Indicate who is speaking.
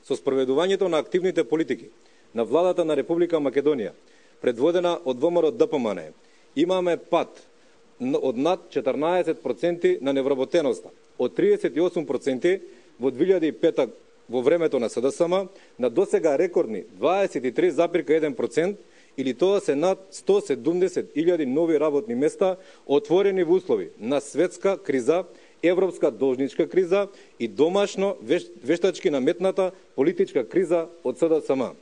Speaker 1: Со спроведувањето на активните политики на владата на Република Македонија, предводена од ВМРО ДПМН, имаме пат од над 14% на невработеноста, од 38% во 2005 во времето на СДСМ на досега рекордни 23,1%, или тоа се над 170.000 нови работни места отворени во услови на светска криза, европска должничка криза и домашно вештачки наметната политичка криза од СДСМ.